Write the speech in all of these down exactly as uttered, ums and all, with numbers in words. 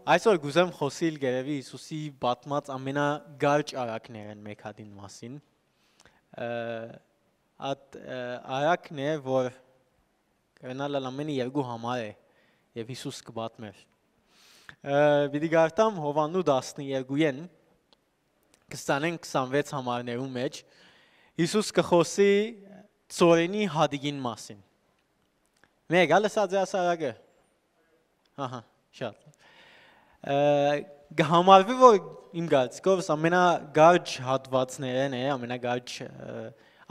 Այսօր կ'ուզեմ խօսիլ կ'երեւի Յիսուսի պատմած ամենակարճ առակներէն մէկ հատին մասին։ Ը, Այդ ը, առակն է, որ կրնալ ալ ամենը երկու համար է, եւ Յիսուս կը պատմեր։ Ը, Պիտի կարդամ Յովհաննու տասներկուին, քսանեն քսանվեց համարներու մէջ, Յիսուս կը խօսի ծորենի հատիկին մասին։ Մէկ ալ ըսած է աս առակը։ Ահա, շատ։ Ը, Կը համարվի, որ իմ կարծիքով ամենակարճ հատվածներէն է, ամենակարճ ը,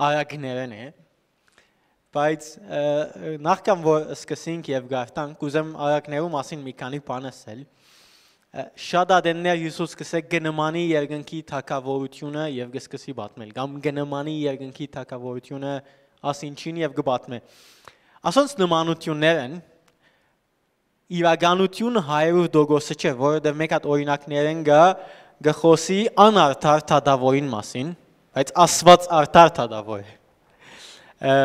առակներէն է, բայց ը, նախքան որ սկսենք եւ գարտանք, կ'ուզեմ առակներու մասին մի քանի բան ասել։ Ը, Շատ ատեններ Յիսուս կսե կը նմանի երկնքի թագաւորութիւնը եւ կը սկսի պատմել, կամ կը նմանի երկնքի թագաւորութիւնը ասինչին եւ կը պատմէ։ Ասոնց նմանութիւններ են, իրականութիւնը հարիւր տոկոսը չէ, որովհետեւ մէկ հատ օրինակներէն կը, կը խօսի անարդար թագաւորին մասին, բայց Աստուած արդար թագաւոր է։ Ը,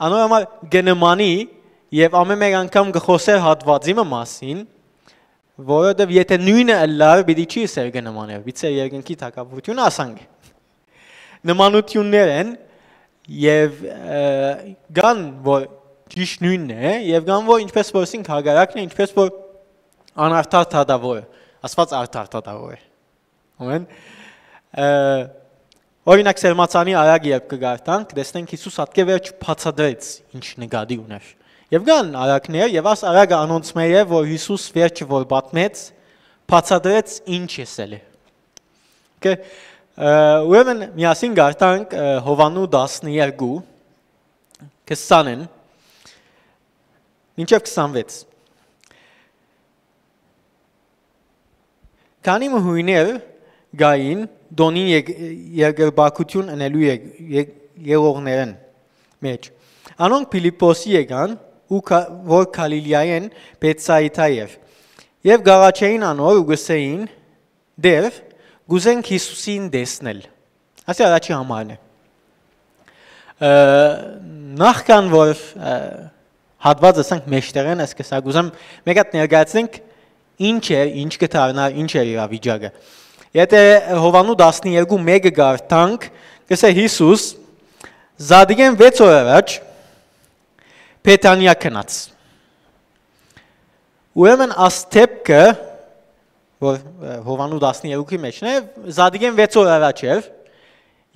Անոր համար կը նմանի եւ ամէն մէկ անգամ կը խօսեր հատուածի մը մասին, որովհետեւ եթէ նոյնը ըլլար, պիտի չի ըսեր կը նմաներ, միցե երկնքի թագաւորութիւնը ասանք։ Նմանութիւններ են եւ ը, կան, որ ճիշդ նոյնն է, եւ կան, որ ինչպես որ ասինք հակառակն է, ինչպես որ անարդար թագաւոր է, Աստուած արդար թագաւոր է։ Ամեն։ Ը, Օրինակ, Սերմացանի արագ երբ կը գարտանք, կտեսնենք Յիսուս ատկե վերջ բացատրեց ինչ նկատի ուներ։ Եւ կան արագներ, եւ աս արագը անոնց մէ է, որ Յիսուս վերջը որ պատմեց, բացատրեց ինչ եսել է։ Okay, ը, ուրեմն միասին գարտանք ը, Յովհաննու տասներկու, քսանեն մինչեւ քսանվեց։ Քանի մը յոյներ կային տոնին ե- երկրպագութիւն ընելու ե- ե- եղողներէն մէջ։ Անոնք Փիլիպպոսի եկան, ու Գա- որ Գալիլիայէն Բեթսայիդա էր, եւ կ'աղաչէին անոր ու կ'ըսէին. «Տէր, կ'ուզենք Յիսուսին տեսնել»։ Ասի առաջի համարն է։ Ը, Նախքան որ ը, հատվածը ասենք մեջտեղէն, ես կսա կ'ուզեմ մէկ հատ ներկայացնենք ինչ էր, ինչ կը դառնար, ինչ էր իրավիճակը։ Եթէ Յովհաննու տասներկու մէկը գարտանք, կսե Յիսուս, զատիկէն վեց օր առաջ Բեթանիա գնաց։ Ուրեմն աս դէպքը, որ ը, Յովհաննու տասներկուի մէջն է, զատիկէն վեց օր առաջ էր,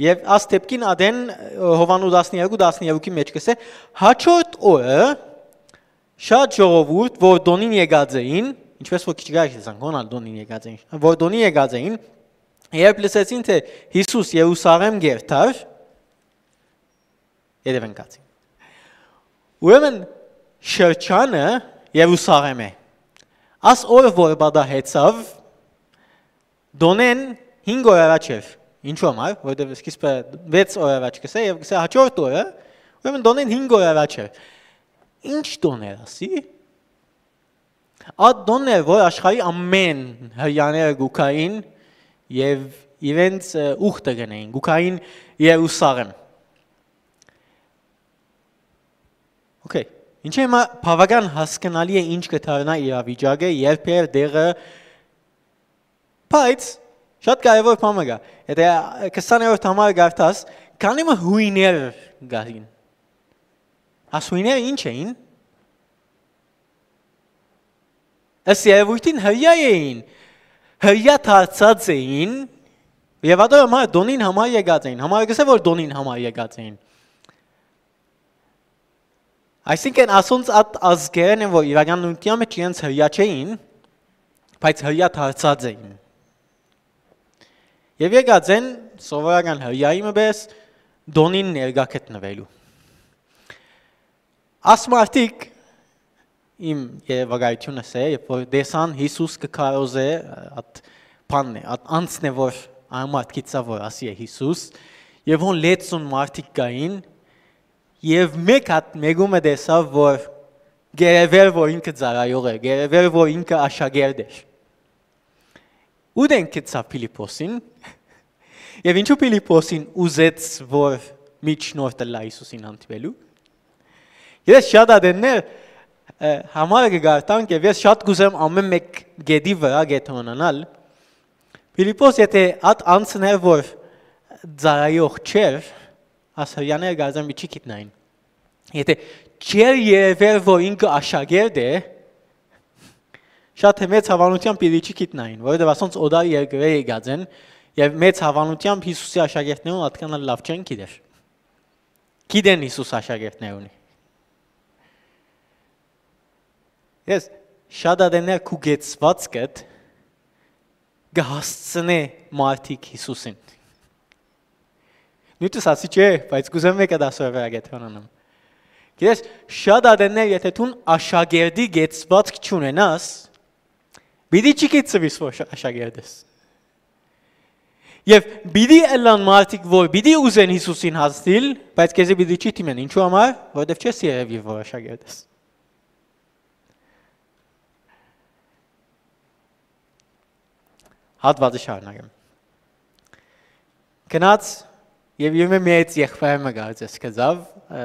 եւ աս դէպքին ատեն ը, Յովհաննու տասներկու, տասներկուի մէջ կսե, հաջորդ օրը շատ ժողովուրդ, որ տոնին եկած էին, ինչպես որ քիչ գայք եսան, հոնալ տոնին եկած էին, որ տոնին եկած էին, երբ լսեցին, թէ Յիսուս Երուսաղէմ կ'երթար, երեւնկացին։ Ուրեմն շրջանը Երուսաղէմ է։ Աս օրը որ պատահեցաւ, տոնեն հինգ օր առաջ էր։ Ինչու համար, որովհետեւ սկիզբը վեց օր առաջ կսե եւ կսե հաջորդ օրը, ուրեմն տոնեն հինգ օր առաջ էր։ Ինչ տոն էր, ասի։ Այդ տոնն էր, որ աշխարհի ամէն հրեաները գուքային եւ իրենց ը, ուխտը գնային, գուքային Երուսաղէմ։ Okay, ինչէ՞ հիմա բավական հասկնալի է ինչ կը դառնայ իրավիճակը, երբ էր, տեղը, բայց շատ կարեւոր բան մը կայ։ Եթե քսաներորդ համար գարտաս, քանի մը յոյներ կային։ Աս յոյները ինչ էին։ Ըստ երևույթին հրեա էին, հրեա դարձած էին, եւ ատոր համար տոնին համար եկած էին, համար կսե որ տոնին համար եկած էին։ Այսինքն ասոնց այդ ազգերեն են, որ իրականության մեջ իրենց հրեա չէին, բայց հրեա դարձած էին։ Եւ եկած են սովորական հրեայի մը պես տոնին ներկայ գտնվելու։ Աս մարդիկ իմ երևակայությունս է, երբ որ տեսան Յիսուս կը քարոզէ, այդ բանն է, այդ անցն է, որ այն մարդկից ա, որ ասի է Յիսուս, եւ հոն լեցուն մարդիկ կային, եւ մէկ հատ մէկումը տեսաւ, որ գերեւեր, որ ինքը ծառայող է, գերեւեր, որ ինքը աշակերտ էր։ Ու դեն գցաւ Փիլիպոսին, եւ ինչու Փիլիպոսին ուզեց, որ միջնորդ ըլլայ Յիսուսին հանդիպելու։ Ես շատ ատեններ Ը, համարը կը կարդանք եւ ես շատ կ'ուզեմ ամէն մէկ կետի վրայ կեդրոնանալ։ Փիլիպպոս եթէ ատ անցներ որ ծառայող չէր, ասորյաներ կարծեմ պիտի չի գիտնային։ Եթէ չէր երևեր որ ինքը աշակերտ է, շատ մեծ հաւանութեամբ պիտի չի գիտնային, որովհետեւ ասոնց օտար երկրէ եկած են եւ մեծ հաւանութեամբ Յիսուսի աշակերտներուն ատկան ալ լաւ չեն գիտեր։ Գիտեն Յիսուս աշակերտներ ունի։ Ես շատ ատեններ քու կեցուածքդ կը հասցնէ մարդիկ Յիսուսին։ Նույնիսկ ասի չէ, բայց կ'ուզեմ մէկ հատ ասոր վրայ կեդրոնանամ։ Գիտես, շատ ատեններ, եթէ դուն աշակերտի կեցուածք չունենաս, պիտի չի գիտցուիս որ շա-, աշակերտ ես։ Եւ պիտի ըլլան մարդիկ որ պիտի ուզեն Յիսուսին հասնիլ, բայց քեզի պիտի չի թիմեն։ Ինչու համար, որովհետեւ չես երեւի որ աշակերտ ես։ Հատվածը շարունակեմ։ Գնաց եւ իւր մը մեծ եղբայր մը կարծես գտաւ, ը,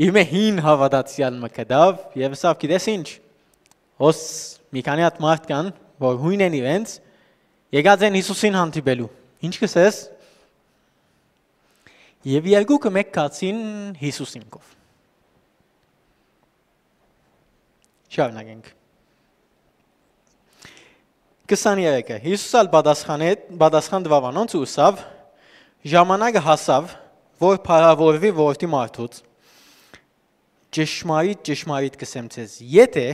իւր մը հին հաւատացեալ մը գտաւ եւ ըսաւ, գիտես ինչ, հոս մի քանի հատ մարդ կան որ յոյն են իրենց, եկած են Յիսուսին հանդիպելու։ Ինչ կ'ըսես։ Եւ երկուքը մէկ գացին Յիսուսին քով։ Շարունակենք։ Քսաներեքը։ Յիսուս ալ պատասխանե-, պատասխան տուաւ անոնց ու ըսաւ. «Ժամանակը հասաւ, որ փառաւորուի որդի մարդուց։ Ճշմարիտ, ճշմարիտ կ'ըսեմ ձեզ, եթէ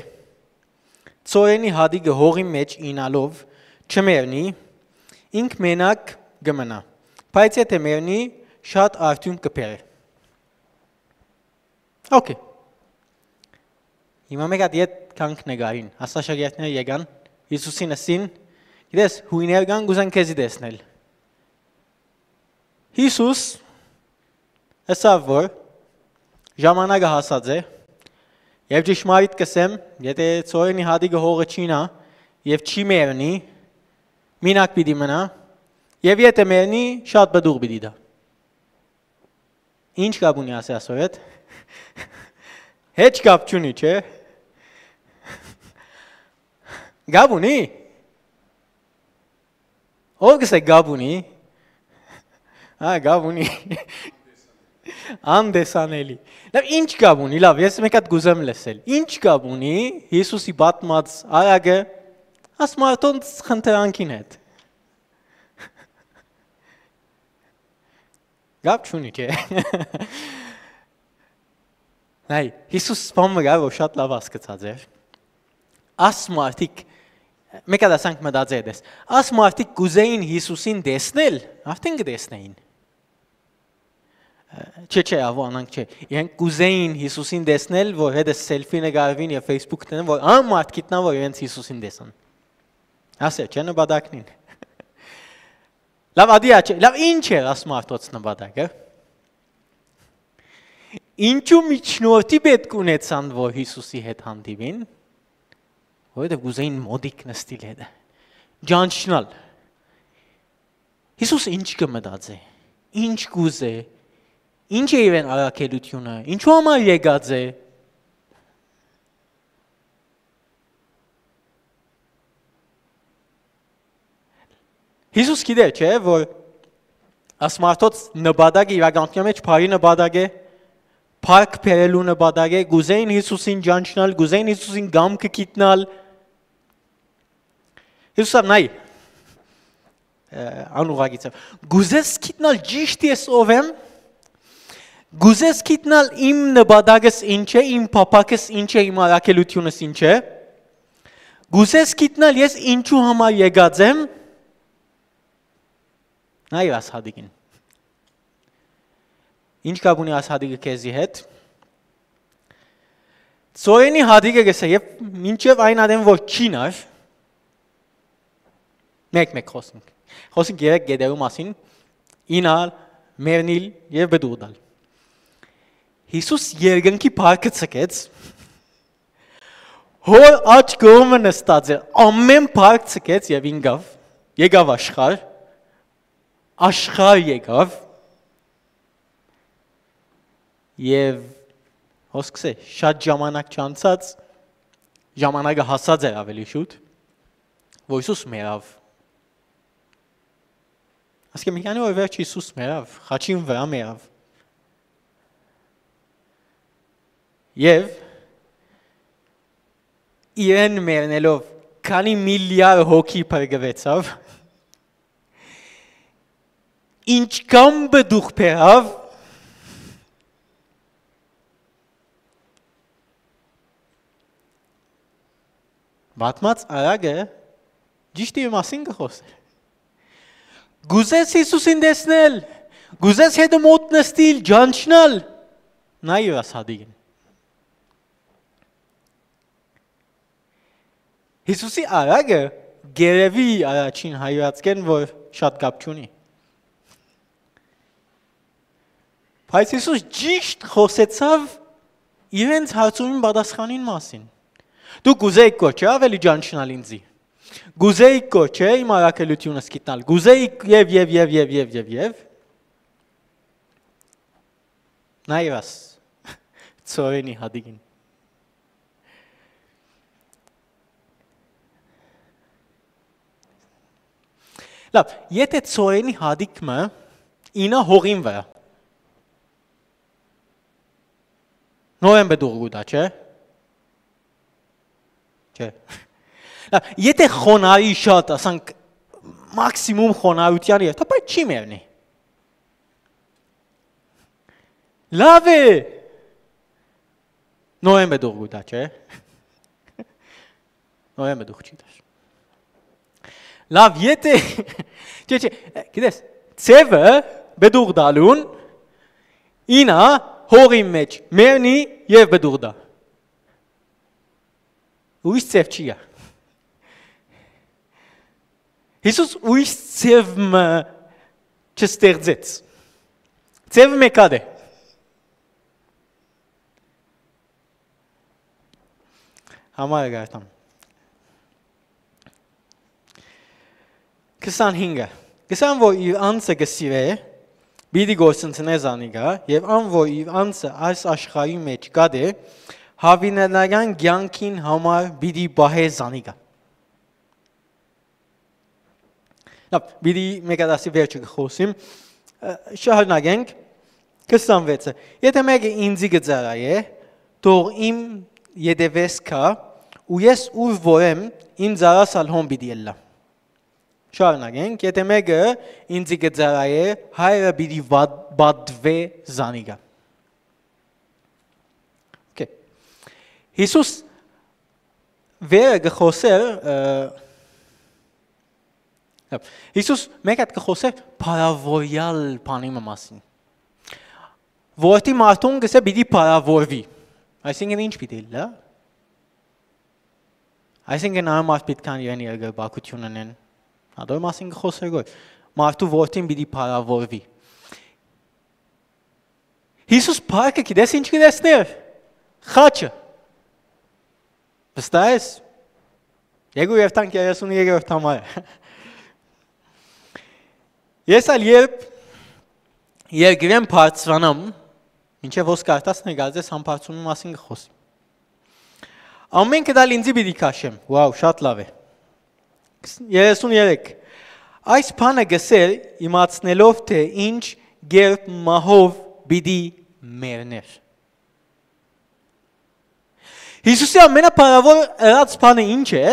ցորենի հատիկը հողի մէջ իյնալով չմեռնի, ինք մենակ կը մնայ, բայց եթէ մեռնի, շատ արդիւնք կը բերէ»։ Okay։ Հիմա մէկ հատ ետ գանք նկարին։ Ասա շագերտները եկան, Յիսուսին ըսին. «Գիտես, յոյներ կան, կ'ուզեն քեզի տեսնել»։ Յիսուս ըսաւ որ ժամանակը հասած է, եւ ճշմարիտ կ'ըսեմ, եթէ ցորենի հատիկը հողը չիյնայ եւ չի մեռնի, մինակ պիտի մնայ, եւ եթէ մեռնի, շատ պտուղ պիտի տայ։ Ինչ կապ ունի ասի ասոր հետ։ Հեչ կապ չունի, չէ՞։ Կապ ունի։ Ով կ'ըսէ կապ ունի։ Հա, կապ ունի։ Անտեսանելի։ Լավ, ինչ կապ ունի, լավ, ես մէկ հատ կ'ուզեմ լսել։ Ինչ կապ ունի Յիսուսի պատմած արագը աս մարդոնց խնդրանքին հետ։ Կապ չունի, չէ՞։ Նայ, Յիսուս սպան մը կար, որ շատ լաւ հասկցած էր։ Աս մարդիկ, մէկ հատ ասանք մտածել ես, աս մարդիկ կ'ուզեին Յիսուսին տեսնել, արդեն կը տեսնեին։ Չէ, չէ, ավո անանք չէ։ Իրենք կ'ուզեին Յիսուսին տեսնել, որ հետը սելֆի նկարվին եւ Facebook դնեն, որ ան մարդ գիտնա, որ իրենց Յիսուսին տեսան։ Ասեր, չէ՞, նպատակնին։ Լավ, ադի աչէ, լավ, ինչ էր աս մարդոց նպատակը։ Ինչու միջնորդի պէտք ունեցան, որ Յիսուսի հետ հանդիպին, որովհետեւ կ'ուզեին մոտիկ նստիլ հետը, ճանչնալ։ Յիսուս ինչ կը մտածէ, ինչ կ'ուզէ, ինչ է իրեն առաքելությունը, ինչու համար եկած է։ Յիսուս գիտեր, չէ՞, որ աս մարդոց նպատակը իրականության մեջ բարի նպատակ է, փառք բերելու նպատակ է, կ'ուզեին Յիսուսին ճանչնալ, կ'ուզեին Յիսուսին կամքը գիտնալ։ Յիսուս ալ նայ, ը, անուղղակիցը։ Կ'ուզես գիտնալ ճիշդ ես ով եմ, կ'ուզես գիտնալ իմ նպատակս ինչ է, իմ փափաքս ինչ է, իմ առաքելությունս ինչ է, կ'ուզես գիտնալ ես ինչու համար եկած եմ, նայ աս հատիկին։ Ինչ կապ ունի աս հատիկը քեզի հետ։ Ծորենի հատիկը կ'ըսէ, եւ մինչեւ այն ատեն որ չիյնար, մեկ-մեկ խօսենք։ Խօսենք երեք գետերու մասին, իյնալ, մեռնիլ եւ պտուղ տալ։ Յիսուս երկնքի փառքը ցկեց, հոր աջ կողմը նստած էր, ամէն փառք ցկեց եւ ինկաւ, եկաւ աշխարհ, աշխարհ եկաւ, եւ Հոսքսէ շատ ժամանակ չանցած, ժամանակը հասած էր ավելի շուտ, որ Յիսուս մեռաւ։ Ասկէ մի քանի օր վերջ Յիսուս մեռաւ, խաչին վրայ մեռաւ։ Եւ իրեն մեռնելով քանի միլիար հոգի փրկուեցաւ, ինչքան պտուղ բերաւ, պատմած արագը ճիշդ իր մասին կը խօսէ։ Կուզես Յիսուսին տեսնել, կուզես հետը մոտ նստիլ, ճանչնալ, նայ իրաս հատիկին։ Յիսուսի արագը գերեւի առաջին հայրացքեն, որ շատ կապ չունի։ Բայց Յիսուս ճիշտ խօսեցաւ իրենց հարցումին պատասխանին մասին։ Դուք կուզէիք կոչե ավելի ճանչնալ ինձի։ Կուզէիք կոչե իմ առաքելութիւնս գիտնալ։ Կուզէիք եւ, եւ, եւ, եւ, եւ, եւ, եւ։ Նայ իրաս, ծորենի հատիկին։ Լավ, եթե ծորենի հատիկ մը ինա հողին վրա, նորեն պտուղ կու տայ, չէ՞։ Չէ։ Լավ, եթե խոնարհի շատ, ասանք, մաքսիմում խոնարհութեան երթայ, բայց չի մեռնի։ Լավ է։ Նորեն պտուղ կու տայ, չէ՞։ Նորեն պտուղ չի տար։ Լավ, եթե, չէ, չէ, գիտես, ձեւը պտուղ տալուն ինա հողի մէջ մեռնի եւ պտուղ տայ։ Ուրիշ ձեւ չի գայ։ Յիսուս ուրիշ ձեւ մը չստեղծեց։ Ձեւը մէկատ է։ Համար կարտամ։ Քսանհինգը։ Քսան որ իր անձը կը սիրէ, պիտի գործընծնէ զանիկա, եւ ան որ իր անձը այս աշխարհի մէջ կատէ, յաւիտենական կեանքին համար պիտի պահէ զանիկա։ Լավ, պիտի մեկադասի վերջը կը խօսիմ։ Ը, շարունակենք։ Քսանվեցը։ Եթե մեկը ինձի կը ծառայէ, թող իմ ետեւէս գայ, ու ես ուր որ եմ, իմ ծառաս ալ հոն պիտի ելլայ։ Շարունակենք։ Եթե մեկը ինձի կը ծառայէ, հայրը պիտի վատ-, պատուէ զանիկա։ Okay. Յիսուս վերը կը խօսէր, ը, Յիսուս մէկ հատ կը խօսէր փառաւորեալ բանի մը մասին։ Որդի մարդուն կսէ պիտի փառաւորուի։ Այսինքն ի՞նչ պիտի ըլլայ։ Այսինքն այն մարդ պիտի կան իրեն երկրպագութիւն ընեն։ Ատոր մասին կը խօսէր գոր։ Մարդու որդին պիտի փառաւորուի։ Յիսուս փառքը գիտես ի՞նչ կը տեսնէր։ Խաչը։ Վստահ ես։ Երկու Հեւթանք երեսուն երկրորդ համարը։ Ես ալ երբ երկրէն բարձրանամ, մինչեւ հոս կարտաս նկարծես, համբարձումի մասին կը խօսի։ Ամէնքդ ալ ինձի պիտի քաշեմ։ Wow, շատ լավ է։ Երեսուն երեք։ Այս բանը կսեր, իմացնելով, թե ինչ կերպ մահով պիտի մեռներ։ Յիսուսի ամենափառաւոր ըրած բանը ի՞նչ է։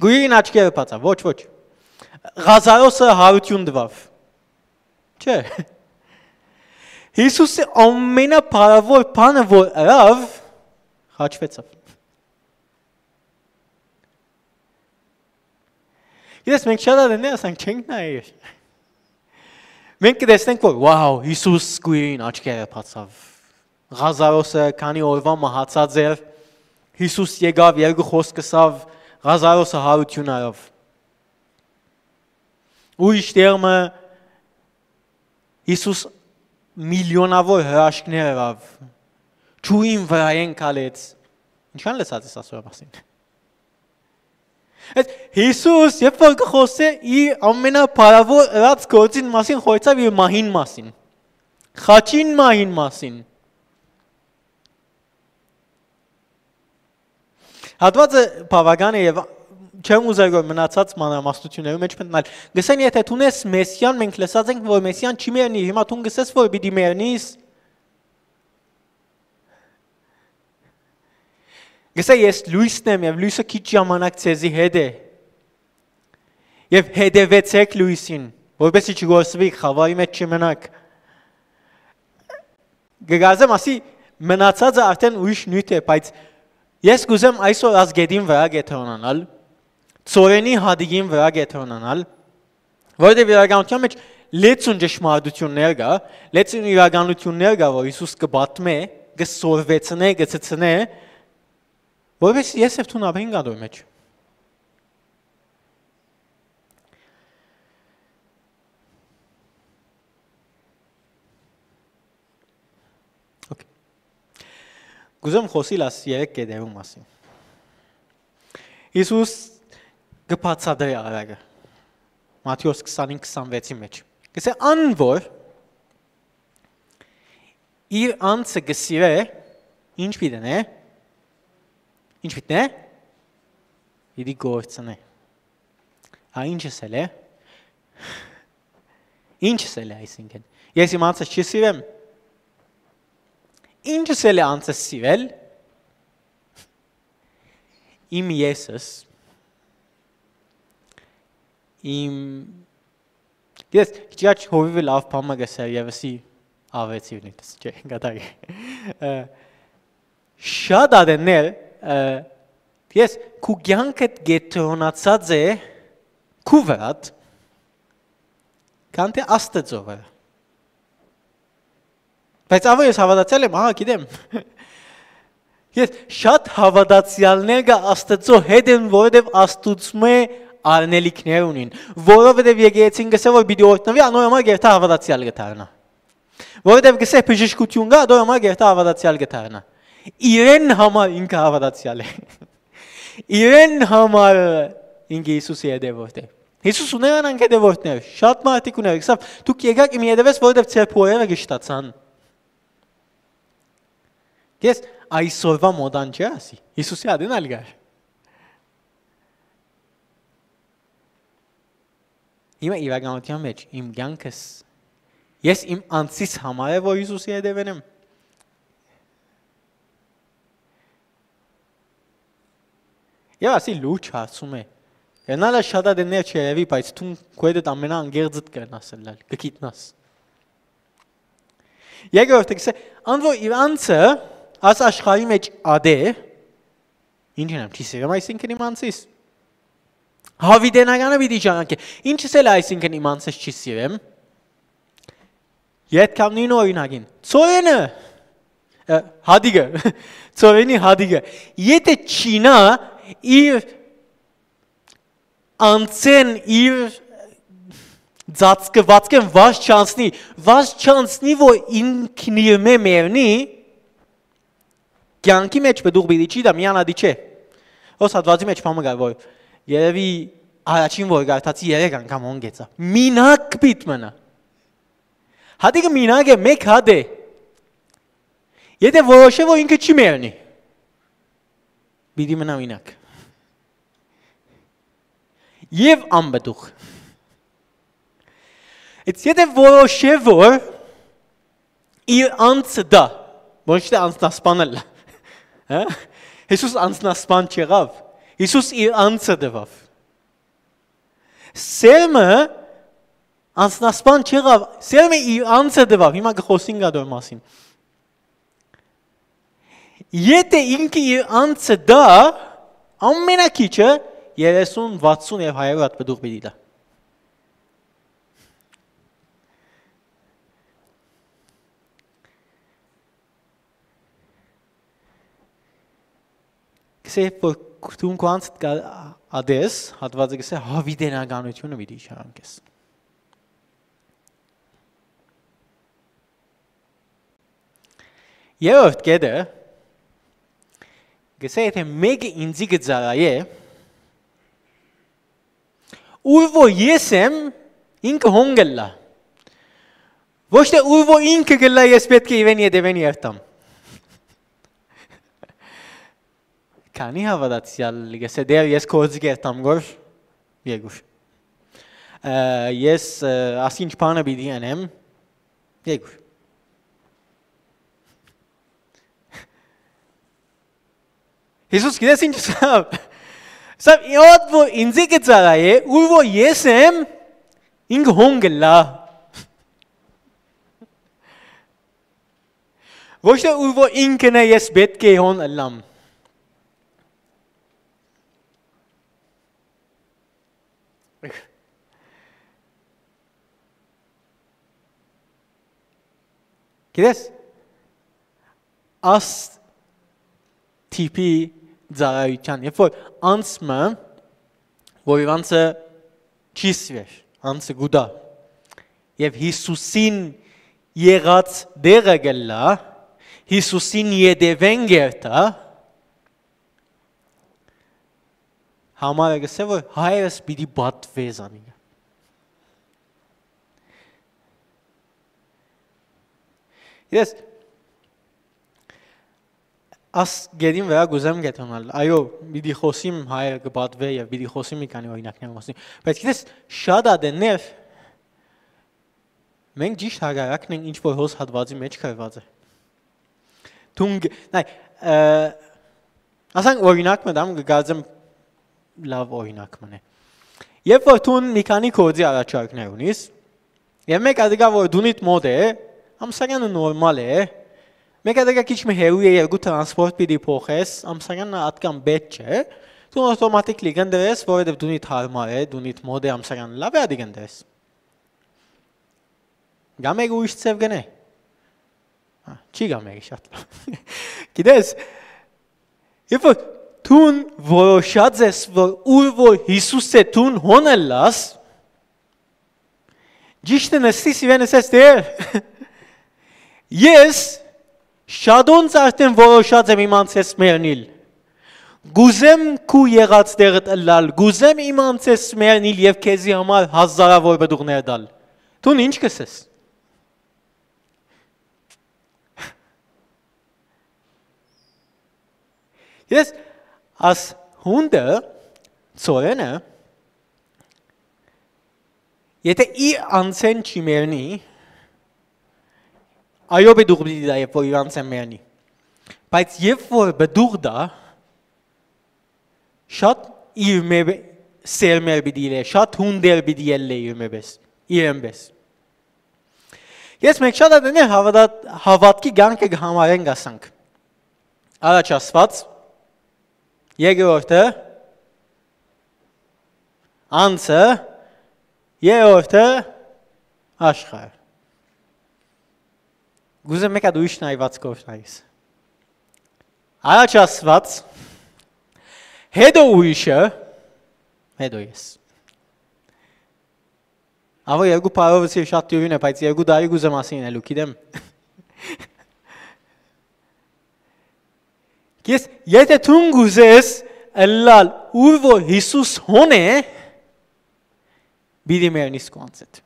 Գույրին աչքերը բացաւ։ Ոչ, ոչ։ Ղազարոսը հարություն տուաւ։ Չէ։ Յիսուսի ամենափառաւոր բանը, որ ըրաւ, խաչվեցաւ։ Գիտես, մենք շատ ատեններ ասենք չենք նայեր։ Մենք կտեսնենք, որ, wow, Յիսուս գույրին աչքերը բացաւ։ Ղազարոսը քանի օրուայ մահացած էր, Յիսուս եկաւ, երկու խօսք ըսաւ, Ղազարոսը հարություն առաւ։ Ուրիշ տեղ մը Յիսուս միլիոնաւոր հրաշքներ ըրաւ, ջուրին վրայէն քալեց։ Ինչքան լսած ես ասոր մասին։ Այդ Յիսուս, երբ որ կը խօսէ իր ամենափառաւոր ըրած գործին մասին, խօսեցաւ իր մահին մասին, խաչին մահին մասին։ Հատուածը բաւական է եւ չեմ ուզեր որ մնացած մանրամասնութիւններու մէջ մտնալ։ Գսեն, եթե դուն ես Մեսիան, մենք լսած ենք որ Մեսիան չի մեռնի, հիմա դուն գսես որ պիտի մեռնիս։ Գսե, ես լոյսն եմ եւ լոյսը քիչ ժամանակ ձեզի հետ է։ Եւ հետեւեցեք լոյսին, որպեսզի չգործուի, խաւարի մեջ չմնաք։ Գգազեմ ասի, մնացածը արդեն ուրիշ նիւթ է, բայց ես կուզեմ այսօր աս գետին վրայ կեդրոնանալ, ծորենի հատիկին վրայ կեդրոնանալ, որովհետեւ իրականութեան մեջ լեցուն ճշմարտութիւններ կայ, լեցուն իրականութիւններ կայ, որ Յիսուս կը պատմէ, կը սորվեցնէ, կը ցցնէ, որովհետեւ ես եւ դուն ապրենք ատոր մեջ։ Okay. Կուզեմ խօսիլ աս երեք կեդերու մասին։ Յիսուս կը բացատրի արարը Մատթէոս քսանին քսանվեցի մեջ։ Գսե, ան որ իր անձը կը սիրէ, ինչ պիտի նե։ Ինչ պիտի նե։ Պիտի գործնէ։ Ա, ինչս էլ է։ Ինչս էլ է այսինքն։ Ես իմ անձս չի սիրեմ։ Ինչս էլ է անձս սիրել։ Իմ եսս, իմ ես քիչ հովիվը լավ բան մը գսեր եւսի ավեցի նույնպես չէ գտագի շատ ադեններ ես քու կյանքդ գետրոնացած է քու վրատ քան թե աստծո վրա բայց ավո ես հավատացյալ եմ ահա գիտեմ ես շատ հավատացյալներ կա աստծո հետ են որովհետև աստուծմե արնելիքներ ունին որովհետև եկեղեցին գսե որ պիտի օրտնվի անոր համար գերթա հավատացյալ կդառնա որովհետև գսե բժշկություն կա, դոր համար գերտա հավատացյալ կդառնա։ Իրեն համար ինքը հավատացյալ է։ Իրեն համար ինքը Հիսուսի հետևորդ է։ Հիսուս ուներ անանք հետևորդներ, շատ մարդիկ ուներ, գսավ դուք եկաք իմ հետևես, որովհետև ձեր փորերը գշտացան։ Ես այսօրվա մոդան չէ ասի, Հիսուսի ադին ալ գար։ Հիմա իրականության մեջ իմ կյանքս, ես իմ անձիս համար է, որ Հիսուսի հետևեն եմ։ Եվ ասի լուրջ հարցում է։ Կնալա շատ ատեններ չերևի, բայց դուն քո հետ ամենաանգերձդ կրնաս ըլլալ, կգիտնաս։ Երկրորդը գսե, ան որ իր անձը, աս աշխարհի մեջ ադէ, ինչ եմ, չի սիրեմ այսինքն իմ անձիս։ Հավիտենականը պիտի ճանաչի։ Ինչս էլ այսինքն իմ անձս չի սիրեմ։ Յետքամ նույն օրինակին։ Ծորենը, հատիկը, ծորենի հատիկը։ Եթե չինա իր անցեն իր ծածկվածքեն վազ չանցնի, վազ չանցնի, որ ինքն իրմէ մեռնի, կյանքի մեջ պտուղ պիտի չի դա, միանադի չէ։ Ոս հատվածի մեջ պամը գար, որ երևի առաջին որ գարտացի երեք անգամ հոնգեցա։ Մինակ պիտ մնա։ Հատիկը մինակ է, մեկ հատ է։ Եթե որոշե, որ ինքը չի մեռնի, պիտի մնա մինակ։ Եվ անպտուղ։ It's եթե որոշե, որ իր անձը դա, ոչ թե անձնասպանել, հա? Հիսուս անձնասպան չեղավ, Հիսուս իր անձը տվավ։ Սերմը անձնասպան չեղավ, սերմը իր անձը տվավ, հիմա կխոսին գադոր մասին։ Եթե ինքը իր անձը դա, ամենակիչը երեսուն, վաթսուն եւ հարյուր հատ պտուղ պիտի դա։ Գսե որ դուն քո անձդ կա ադես, հատվածը գսե հավիտենականությունը պիտի իշխանանքես։ Երրորդ կետը, գսե եթե մեկը ինձի կծառայէ, ուր որ ես եմ, ինքը հոն գլլա։ Ոչ թե ուր որ ինքը գլլա, ես պետք է իրեն ետևեն երթամ։ Քանի՞ հաւատացեալ կ'ըսէ, «Տէր, ես գործի կերտամ գոր երկուր։ Ը, ես, ը, ասինչ բանը պիտի ընեմ երկուր»։ Յիսուս գիտես ինչ ըսաւ։ Ըսաւ, «Յոտ որ ինծի կը ծառայէ, ուր որ ես եմ, ինք հոն կ'ըլլայ։ Ոչ թէ ուր որ ինքն է, ես պէտք է հոն ըլլամ»։ Գիտես, աս տիպի ծառայութեան, երբ որ անձ մը, որ իրանցը չի սիրեր, անձը գուտա, եւ Յիսուսին եղած դերը կ'ըլլայ, Յիսուսին ետեւէն կերթայ, համար է կ'ըսէ, որ հայրս պիտի պատուէ զանիկա։ Գիտես, աս գետին վրայ կ'ուզեմ կեդոնալ։ Այո, պիտի խօսիմ հայրը կը պատուէ եւ պիտի խօսիմ մի քանի օրինակներ կը խօսիմ։ Բայց գիտես, շատ ատեններ, մենք ճիշտ հակառակն ենք, ինչ որ հոս հատուածի մեջ գրուած է։ Դուն գ-, նայ, ը, ասենք օրինակ մը տամ, կը կարծեմ լաւ օրինակ մը է։ Երբ որ դուն մի քանի գործի առաջարկներ ունիս, եւ մէկ ատիկա որ դունիդ մոտ է, ամսականը նորմալ է, մէկ ատիկա քիչ մը հեռու է, երկու տրանսպորտ պիտի փոխես, ամսականը ատկան պէտք չէ, դուն automatically կ'ընտրես, որովհետեւ դունիդ հարմար է, դունիդ մոտ է, ամսականը լաւ է, ատիկ ընտրես։ Կամ եք ուրիշ ձեւ կ'ընէ։ Հա, չի կամ եք շատ լաւ։ Գիտես, երբ որ դուն որոշած ես, որ ուր որ Յիսուս է, դուն հոն ըլլաս, ճիշդը նստիս իրեն ըսես, «Տէր, ես շատոնց արդեն որոշած եմ իմ անձս մեռնիլ։ Կ'ուզեմ քու եղած տեղդ ըլլալ, կ'ուզեմ իմ անձս մեռնիլ եւ քեզի համար հազարաւոր պտուղներ տալ»։ Դուն ինչ կ'ըսես։ Ես աս հունդը, ծորենը, եթե իր անձէն չի մեռնի, այո, պտուղ պիտի տայ, երբ որ իր անձէն մեռնի։ Բայց երբ որ պտուղ տայ, շատ իր մէ-, սերմեր պիտի ելլէ, շատ հունդեր պիտի ելլէ իր մէ պես, իրեն պես։ Ես մենք շատ ատեններ հաւատա-, հաւատքի կյանքը կը համարենք, ասանք։ Առաջ ասված, երկրորդը անձը, երրորդը աշխարհը։ Կ'ուզեմ մէկ հատ ուրիշ նայված կորշնայիս։ Առաջ ասված, հետո ուրիշը, հետո ես։ Ահա երկու բառով ըսի շատ դիւրին է, բայց երկու տարի կ'ուզեմ ասին ելու, գիտեմ։ Ես, եթե դուն կ'ուզես ըլլալ ուր որ Յիսուս հոն է, պիտի մեռնիս քու անձդ։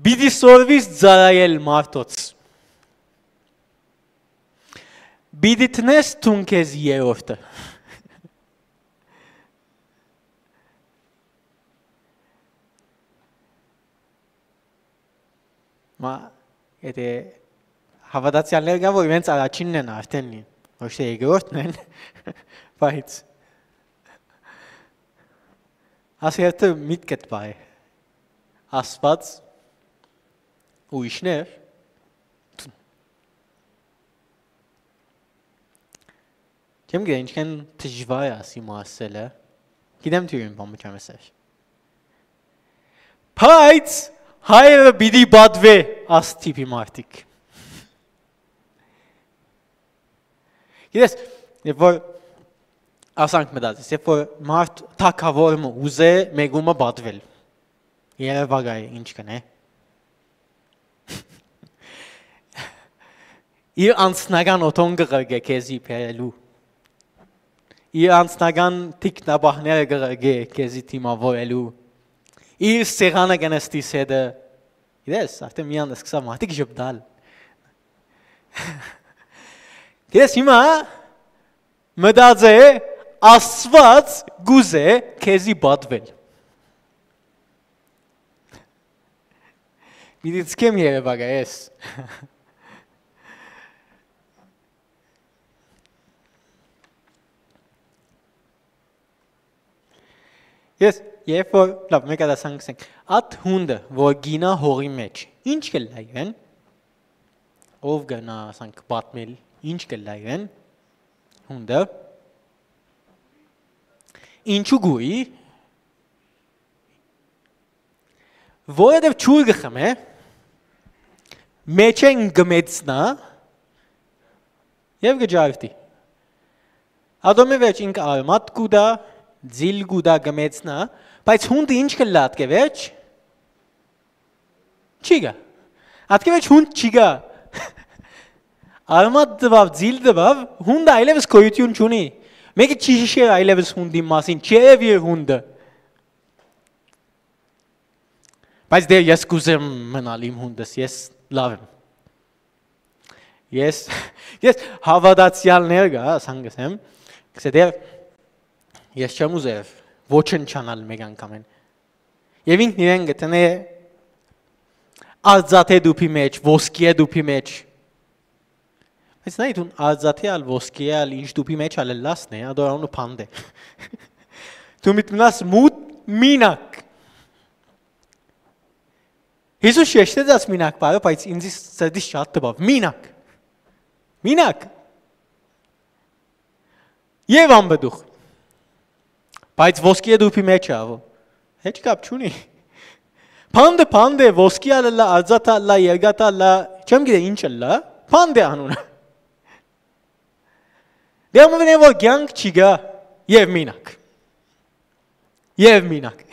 Պիտի սորվիս ծառայել մարդոց։ Պիտի տնես դուն քեզ երրորդը։ Մա, եթե հաւատացեալներ կան, որ իրենց առաջինն են արդեն, ոչ թէ երկրորդն են, բայց ասերտը միտքդ պահ է, Աստված, ուրիշներ, չեմ գիտեմ ինչքան դժուար է ասի մը ասելը, գիտեմ դու ին բան մը չեմ ասել, բայց հայրը պիտի պատվե աս տիպի մարդիկ։ Գիտես, երբ որ, ասանք մտածես, երբ որ մարդ թագաւոր մը ուզէ մեկումը պատվել, երևակայ ինչ կնե։ Իր անձնական օթոն կը ղրկէ քեզի բերելու։ Իր անձնական թիկնապահները կը ղրկէ քեզի դիմավորելու։ Իր սեղանը կը նստիս հետը։ Գիտես, արդեն միան սկսա մարդիկ ժպտալ։ Ես հիմա մտածե, Աստուած կուզե քեզի պատվել։ Պիտի ցկեմ երևակայ ես։ Ես, երբ որ, լավ, մեկը դասան կսենք, ատ հունդը, որ գինա հողի մեջ, ինչ կլա իրեն, ով գնա, ասանք, պատմել, ինչ կլա իրեն, հունդը, ինչու գուի, որովհետև ջուր կը խմէ, մեջէն կը մեծնայ եւ կը ջարդի։ Ատոնի վերջ ինք արմատ կու տայ, ձիլ կու տայ, կը մեծնայ, բայց հունդը ինչ կլա ատկէ վերջ, չի գայ։ Ատկէ վերջ հունդ չի գայ։ Արմատ տուաւ, ձիլ տուաւ, հունդը այլեւս գոյութիւն չունի։ Մեկը չի յիշեր այլեւս հունդին մասին, չերեւիր հունդը։ Բայց դեռ ես կուզեմ մնալ իմ հունդս, ես լաւ եմ։ Ես, ես հաւատացեալներ կայ, ասան կ'ըսեմ, կ'ըսէ դեռ ես չեմ ուզեր ոչնչանալ մէկ անգամէն։ Եւ ինքն իրեն կը տնէ արծաթի տուփի մէջ, ոսկիի տուփի մէջ։ Բայց նայ, դուն արծաթի ալ, ոսկիի ալ, ինչ տուփի մէջ ալ ըլլաս նե, ադոր անունը փանդ է։ Դու միտմնաս մութ մինակ։ Յիսուս շեշտեց այս մինակ բառը, բայց ինձ սրտիս շատ տպաւ։ Մինակ։ Մինակ։ Եւ անպտուղ։ Բայց ոսկիի տուփի մէջ է, avo։ Հեչ կապ չունի։ Փանդը փանդ է, ոսկի ալ ըլլայ, արծաթ ալ ըլլայ, երկաթ ալ ըլլայ, չեմ գիտե ինչ ըլլայ, փանդ է անունը։ Դե ամենէն որ կյանք չի գայ, եւ մինակ։ Եւ մինակ։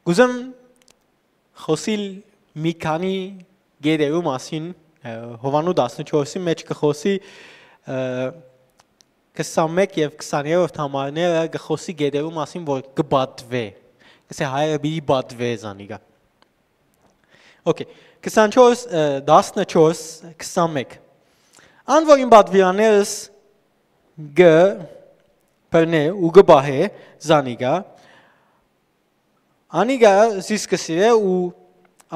Կուզեմ խօսիլ մի քանի գետերու մասին, ը, Յովհաննու տասնչորսի մէջ կը խօսի, ը, քսանմէկ եւ քսաներորդ համարները կը խօսի գետերու մասին, որ կը պատուէ։ Կսէ հայրը պիտի պատուէ զանիկա։ Okay, քսանչորս, ը, տասնչորս, քսանմէկ։ Ան որ իմ պատուիրաններս կը բռնէ ու կը պահէ զանիկա, անիկա զիս կը սիրէ ու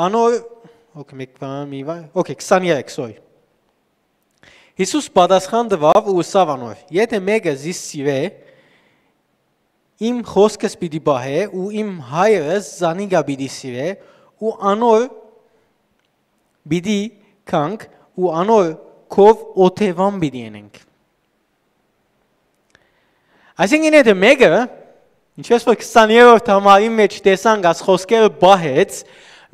անոր, okay, մէկ բան, մի բան, okay, քսաներեք, sorry։ Յիսուս պատասխան տուաւ ու ըսաւ անոր. «Եթէ մէկը զիս սիրէ, իմ խօսքս պիտի պահէ ու իմ հայրս զանիկա պիտի սիրէ ու անոր պիտի գանք ու անոր քով օթեւան պիտի ընենք»։ Այսինքն, եթե մէկը, ինչպես որ քսաներորդ համարի մէջ տեսանք, աս խոսքերը պահեց,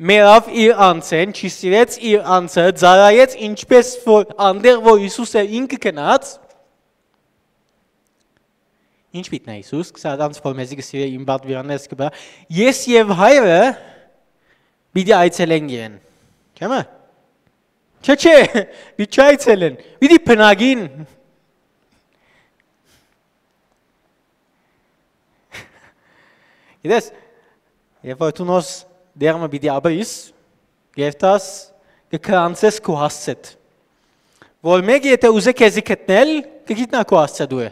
մեռաւ իր անձէն, չի սիրեց իր անձը, ծառայեց, ինչպես որ անտեղ որ Յիսուս էր ինքը գնաց, ինչ պիտի նայ Յիսուս, կսա անց որ մեզի կսիրե իմ պատվիրաններս կը բա, ես եւ հայրը պիտի այցելենք իրեն։ Չէ՞ մը։ Չէ, չէ, պիտի չայցելեն, պիտի բնակին։ Գիտես, երբ որ դու նոր դերմը պիտի ապրիս, երթաս, կը քրանցես քու հասցեդ, որ մեկը եթե ուզէ քեզի գտնել, կը գիտնայ քու հասցեդ ուրը։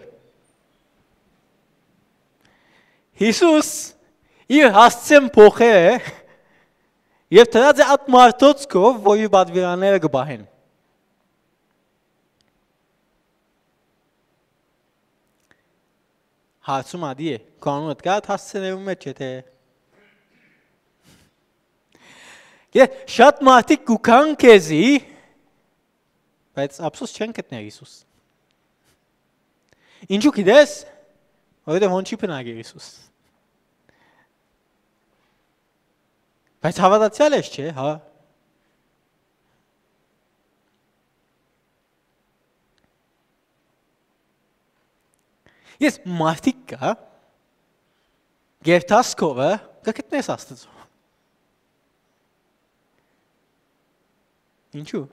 Յիսուս իր հասցեն փոխեր է եւ դրած է այդ մարդոց քով, որ իր պատվիրանները կը պահեն։ Հարցում ադի է, քո անունդ կա՞ այդ հասցեներու մեջ, եթե Գիտես, շատ մարդիկ կու քան քեզի, բայց ափսոս չեն գտներ Յիսուս։ Ինչու գիտես, որովհետև հոն չի բնակեր Յիսուս։ Բայց հավատացյալ ես, չէ՞, հա։ Ես մարդիկ կա, գերտասքովը կգտնես Աստծո։ Ինչու։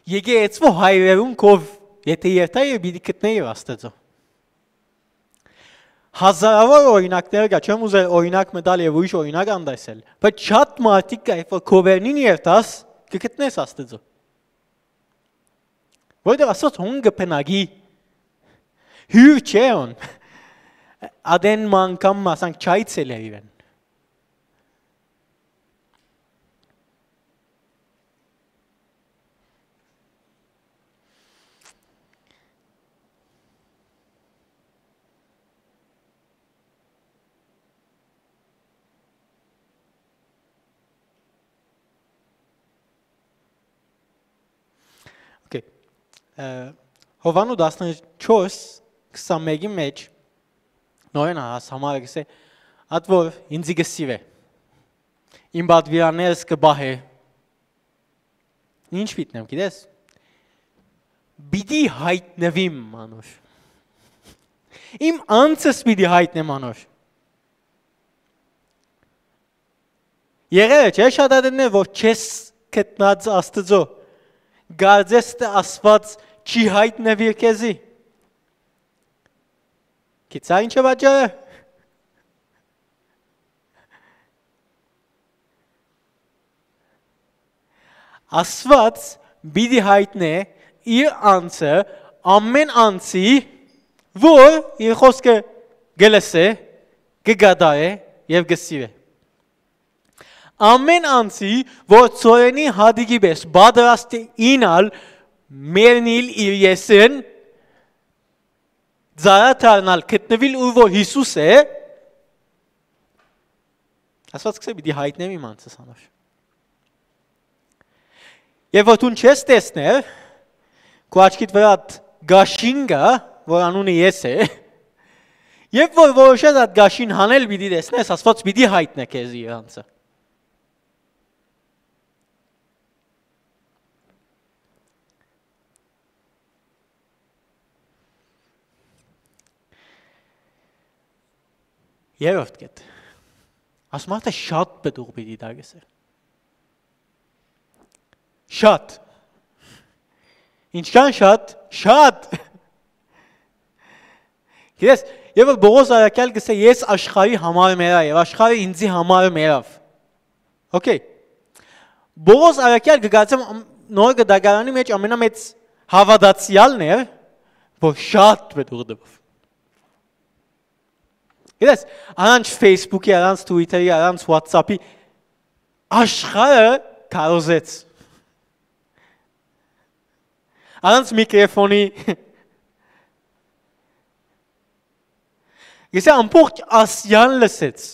Եկեղեցու հայրերուն կով, եթե երթայ, պիտի գտնեի Աստծո։ Հազարաւոր օրինակներ կայ, չեմ ուզեր օրինակ մը տալ եւ ուրիշ օրինակ անդեսել, բայց շատ մարդիկ կայ, որ քովերնին երթաս կը գտնես Աստուծոյ։ Որտեղ Աստուած հոն կը բնակի, հիւր չէ հոն, ատեն մը անգամ, ասանք, չայցելեր իրեն։ Okay. Ը, Յովհաննէս տասնչորս, քսանմէկի մէջ, նորէն աս համար կսէ, ատ որ ինձի կը սիրէ, իմ պատուիրաններս կը պահէ, ինչ պիտի նեմ, գիտես, պիտի յայտնուիմ անոր, իմ անձս պիտի յայտնեմ անոր։ Եղեր է, չէ՞, շատ ատեններ, որ չես գտնած Աստուծոյ, կարծես թէ Աստուած չի յայտնուիր քեզի։ Գիտցա՞ ինչ է պատճառը։ Աստուած պիտի յայտնէ իր անձը ամէն անձի, որ իր խօսքը կը լսէ, կը կատարէ եւ կը սիրէ։ Ամէն անձի, որ ծորենի հատիկի պէս պատրաստ է իյնալ, մեռնիլ իր եսին, ծառայ դառնալ, գտնուիլ ուր որ Յիսուս է, Աստուած կսէ պիտի յայտնեմ իմ անձս անոր։ Եւ որ դուն չես տեսներ, քու աչքիդ վրայ ատ գաշին կայ, որ անունը ես է, եւ որ որոշես ատ գաշին հանել պիտի տեսնես, Աստուած պիտի յայտնէ քեզի իր անձը։ Երրորդ կետ։ Ասում ա, թէ շատ պտուղ պիտի տայ, կսէ։ Շատ։ Ինչքան շատ, շատ։ Գիտես, երբ որ Պողոս առաքյալ կսէ, «Ես աշխարհի համար մեռայ եւ աշխարհը ինձի համար մեռաւ»։ Okay։ Պողոս առաքյալ կը կարծեմ, ամ-, նոր կտակարանի մեջ ամենամեծ հաւատացեալն էր, որ շատ պտուղ տուաւ։ Գիտես, առանց Facebook-ի, առանց Twitter-ի, առանց WhatsApp-ի աշխարհը քարոզեց։ Առանց միկրոֆոնի։ Գիտես, ամբողջ Ասիան լսեց։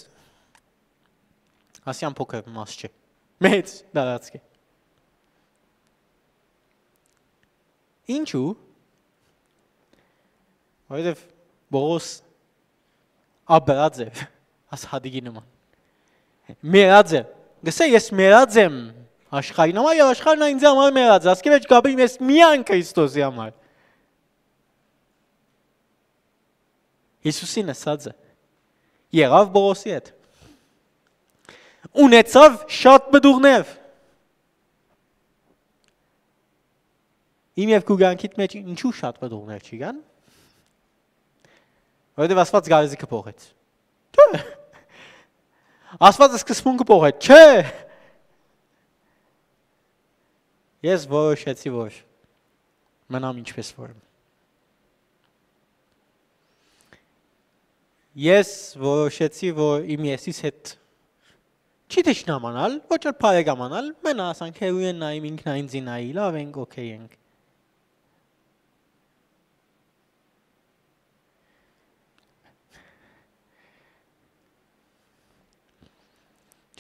Ասիան փոքր մաս չէ։ Մեծ տարածք է։ Ինչու՞։ Որովհետև Պողոս ապրած է աս հատիկի նման։ Մեռած է։ Գսե, «Ես մեռած եմ աշխարհին համար, եւ աշխարհն ա ինձ համար մեռած է։ Ասկէ վեճ կապրիմ ես միայն Քրիստոսի համար»։ Յիսուսին ըսած է։ Եղավ Պողոսի հետ։ Ունեցավ շատ պտուղներ։ Իմ եւ քու կյանքիդ մեջ ինչու շատ պտուղներ չի կան։ Որովհետև Աստված գարեզի կը փոխեց։ Չէ։ Աստված սկզբունքը փոխեց։ Չէ։ Ես որոշեցի, որ մնամ ինչպես որ եմ։ Ես որոշեցի, որ իմ եսիս հետ չի թշնամանալ, ոչ էլ բարեկամանալ, մենա ասանք հերույեն նայիմ, ինքնայինձի նայի, լավ ենք, օքեյ ենք։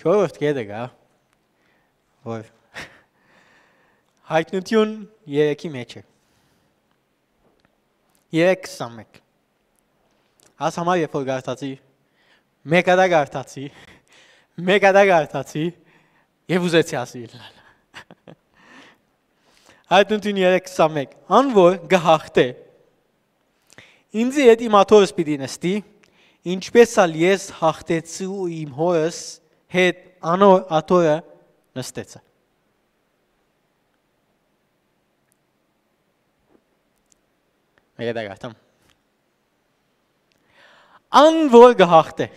Չորրորդ կետը կա, որ հայտնություն երեքի մեջ է։ Երեք քսանմեկ։ Աս համար երբ որ գարտացի, մեկ ատա գարտացի, մեկ ատա գարտացի, եւ ուզեցի ասիլ։ Հայտնություն երեք քսանմեկ։ Ան որ կը հաղթէ, ինձի հետ իմ աթորս պիտի նստի, ինչպես ալ ես հաղթեցի ու իմ հորս հետ անոր աթորը նստեցա։ Մեկը դա գարտամ։ Ան որ կը հաղթէ։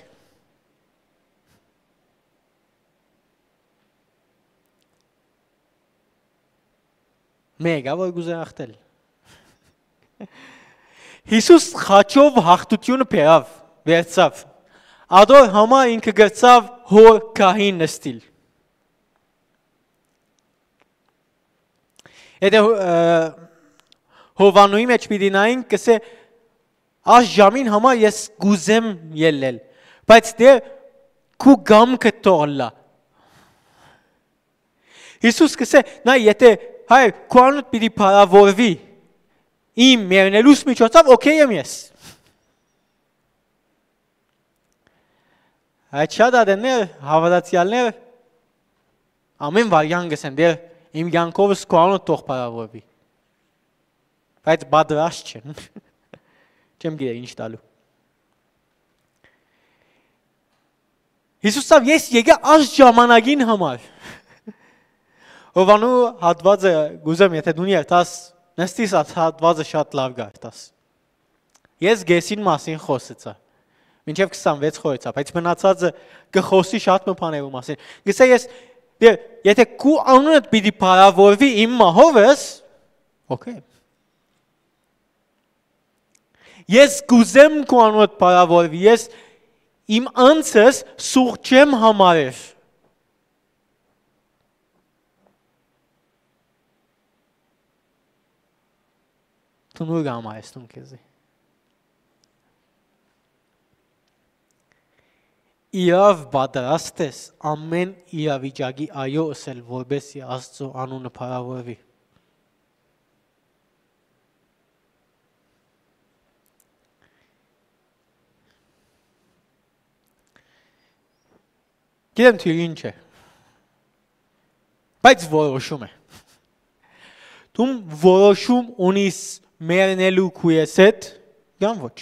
Մեկը որ կ'ուզէ հաղթել։ Յիսուս խաչով հաղթութիւնը բերաւ, վերցաւ։ Ատոր համար ինքը կրցաւ հոր գահին նստիլ։ Եթե, ը, Յովհաննուի մէջ պիտի նայենք, կ'ըսէ, «Այս ժամին համար ես կ'ուզեմ ելլել, բայց դեռ քու կամքը թող ըլլայ»։ Յիսուս կ'ըսէ, «Նայ, եթե, հայր, քու անունդ պիտի փառաւորուի իմ մեռնելուս միջոցով, օքեյ եմ ես»։ Այդ շատ ատեններ, հաւատացեալներ, ամէն վարյան կ'ըսեն, «Դեռ իմ կեանքովս քու անունդ թող փառաւորուի»։ Բայց պատրաստ չեն։ Չեմ գիտեր ինչ տալու։ Յիսուս ասաւ, «Ես եկայ այս ժամանակին համար»։ Ովանու հատվածը կ'ուզեմ, եթե դուն երթաս, նստիս, այս հատվածը շատ լաւ կ'երթաս։ Ես կեսին մասին խօսեցայ, մինչեւ քսանվեց խօսեցայ, բայց մնացածը կը խօսի շատ մը բաներու մասին։ Կ'ըսէ, ես, դե, եթե քու անունդ պիտի փառաւորուի իմ մահովս, օքեյ։ Ես կ'ուզեմ քու անունդ փառաւորուի, ես իմ անձս սուղ չեմ համարեր։ Դու նո՞ր կը համարես դուն քեզի։ Իրաւ պատրաստ ես ամէն իրավիճակի այո ըսել, որպեսզի Աստծո անունը փառաւորուի։ Գիտեմ թիւրին չէ, բայց որոշում է։ Դու որոշում ունիս մեռնելու քու ես հետ, կամ ոչ։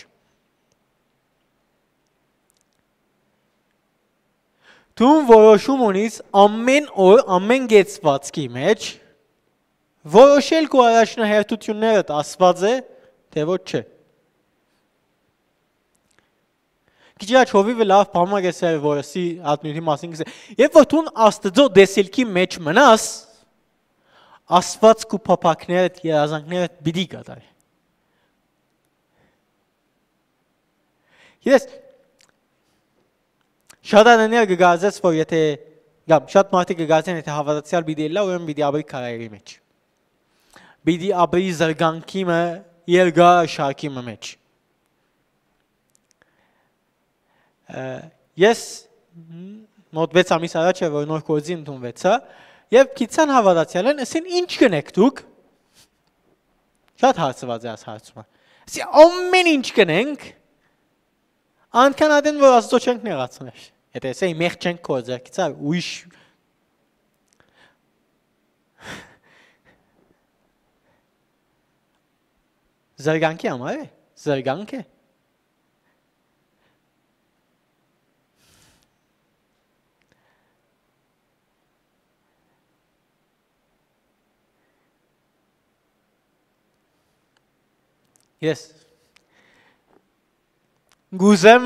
Դու որոշում ունիս ամէն օր, ամէն կեցվածքի մէջ որոշել քու առաջնահերթութիւններդ, ասված է, թէ ոչ չէ։ Քիչ առաջ Հովիվը լաւ բան մը կ'ըսէր, որ սի ատմիւթի մասին կ'ըսէ։ Երբ որ դուն Աստծո տեսիլքի մէջ մնաս, Աստված քու փափաքներդ, երազանքներդ պիտի կատարի։ Ես շատ ատեններ կը կարծես, որ եթե, կամ շատ մարդիկ կը կարծեն, եթե հաւատացեալ պիտի ելլայ, ուրեմն պիտի ապրի քարայրի մէջ։ Պիտի ապրի զրկանքի մը, երկար շարքի մը մէջ։ Ը, ես մոտ վեց ամիս առաջ է, որ նոր գործի ընդունվեցա, եւ քիչան հաւատացեալ են, ասին, «Ինչ կ'ընէք դուք»։ Շատ հարցուած է այս հարցումը։ Ասի, «Ամեն ինչ կ'ընենք, անկան ատեն, որ Աստծո չենք նեղացներ»։ Եթե ասեի, «Մեղք չենք գործեր», գիցար, ուրիշ զրկանքի համար է, զրկանք է։ Ես կ'ուզեմ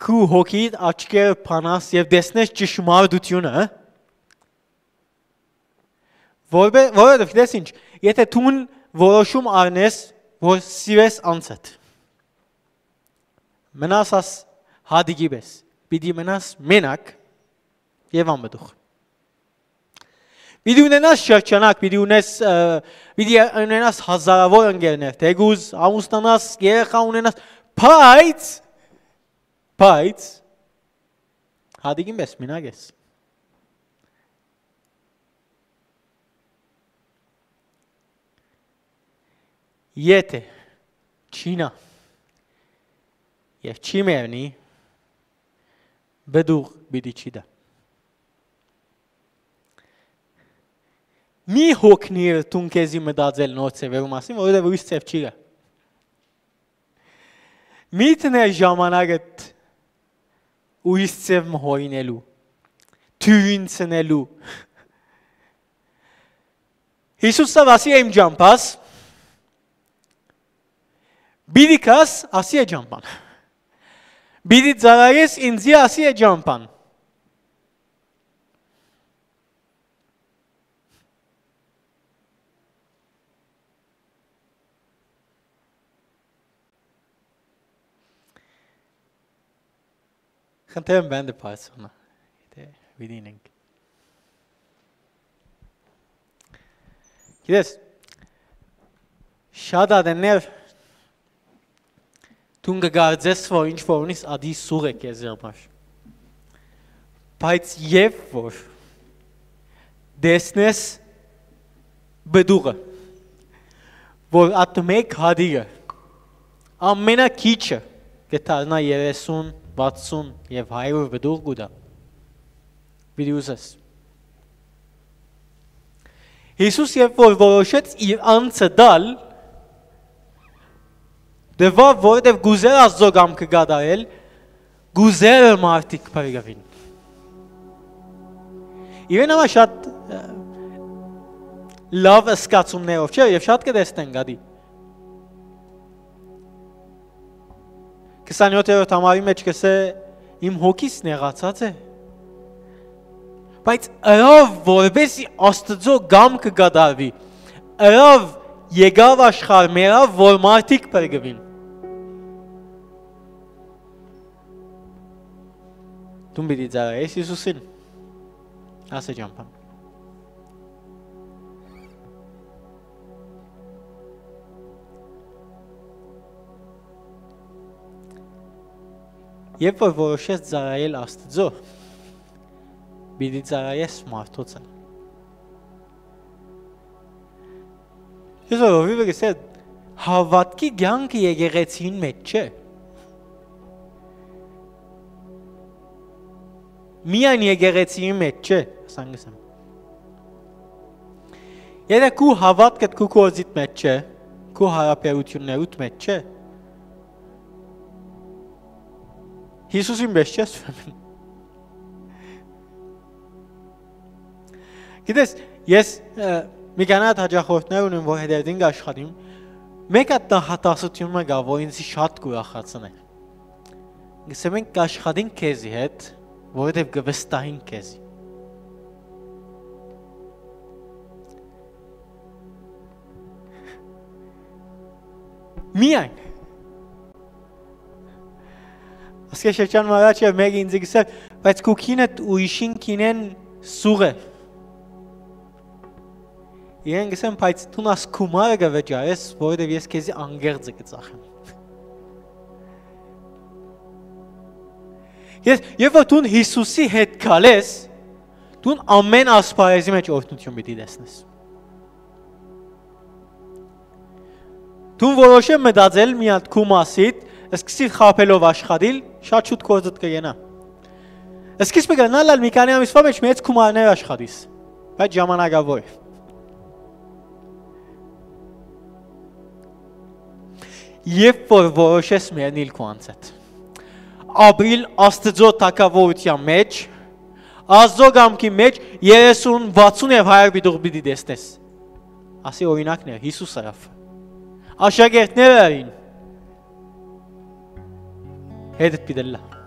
քու հոգիդ աչքերը բանաս եւ տեսնես ճշմարտությունը, որովհետեւ, գիտես ինչ, եթե դուն որոշում առնես, որ սիրես անձդ, մնաս աս հատիկի պես, պիտի մնաս մենակ եւ անմտուղ։ Պիտի ունենաս շրջանակ, պիտի ունես, ը, պիտի ունենաս հազարավոր ընկերներ, թեկուզ ամուսնանաս, երեխա ունենաս, բայց, բայց, հատիկին պես մենակ ես։ Եթե չինա եւ չի մեռնի, բդուղ պիտի չի դա։ Մի հոգնիր դուն քեզի մտածել նոր ձևերու մասին, որովհետեւ ուրիշ ձև չի գա։ Մի դներ ժամանակդ ուրիշ ձև մը հորինելու, թիւրին ցնելու։ Յիսուս ասի, «Իմ ճամփաս, պիտի գաս», ասի է ճամփան։ Պիտի ծառայես ինծի, ասի է ճամբան։ Խնդրեմ բանտը բարձրանայ, եթէ պիտի ինենք։ Գիտես, շատ ատեններ դուն կը կարծես, որ ինչ որ ունիս ատի սուղ է քեզի համար։ Բայց երբ որ տեսնես պտուղը, որ ատ մէկ հատիկը ամենակիչը կը դառնայ երեսուն, վաթսուն եւ հարիւր պտուղ կու տայ, պիտի ուզես։ Յիսուս երբ որ որոշեց իր անձը տալ, տուաւ, որովհետեւ կ'ուզէր Աստուծոյ կամքը կատարել, կ'ուզէր մարդիկ փրկուին։ Իրեն համար շատ, ը, լաւ զգացումներով չէ, եւ շատ կը տեսնեն գադի։ Քսանեթերորդ համարի մէջ կ'ըսէ. «Իմ հոգիս նեղացած է»։ Բայց ըրաւ, որպեսզի Աստուծոյ կամքը կատարուի, ըրաւ, եկաւ աշխարհ, մեռաւ, որ մարդիկ փրկուին։ Դուն պիտի ծառայես Յիսուսին, ասէ ճամբան։ Երբ որ որոշես ծառայել Աստուծոյ, պիտի ծառայես մարդոց ալ։ Ես ով իվը կսե, հաւատքի կեանքը եկեղեցին մէջ չէ։ Միայն եկեղեցին մէջ չէ, ասան կսեմ։ Եթէ քու հաւատքդ քու գործիդ մէջ չէ, քու հարաբերութիւններուդ մէջ չէ, Յիսուսին պէս չես ուրեմն։ Գիտես, ես, ը, մի քանի հաճախորդներ ունեմ, որ հետերտին կ'աշխատիմ, մէկ հատ նախադասութիւն մը կայ, որ ինձ շատ կ'ուրախացնէ։ Կսեմ, մենք կ'աշխատենք քեզի հետ, որովհետեւ կը վստահենք քեզի։ Միայն։ Ասկէ շրջան մը առաջ եւ մեկը ինձ գսեր, բայց քու կինդ ուրիշին կինեն սուղ է։ Իրեն գսեմ, բայց դուն աս գումարը կը վճարես, որովհետեւ ես քեզի անգերձը կը ծախեմ։ Ես, երբ որ դուն Յիսուսի հետ քալես, դուն ամեն ասպարեզի մէջ օրհնութիւն պիտի տեսնես։ Դուն որոշեմ մտածել մի հատ քու մասիդ, սկսիր խաբելով աշխատիլ, շատ շուտ գործդ կը գնայ։ Սկիզբը կրնար ալ մի քանի ամիսվա մէջ մեծ գումարներ աշխատիս, բայց ժամանակաւոր է։ Երբ որ որոշես մեռնիլ քու անձդ, ապրիլ Աստուծոյ թագաւորութեան մէջ, Աստուծոյ կամքի մէջ, երեսուն, վաթսուն եւ հարիւր պիտի, պիտի տեսնես։ Ասի օրինակներ, Յիսուս ըրաւ։ Աշակերտները ըրին։ Հետդ պիտի ըլլայ։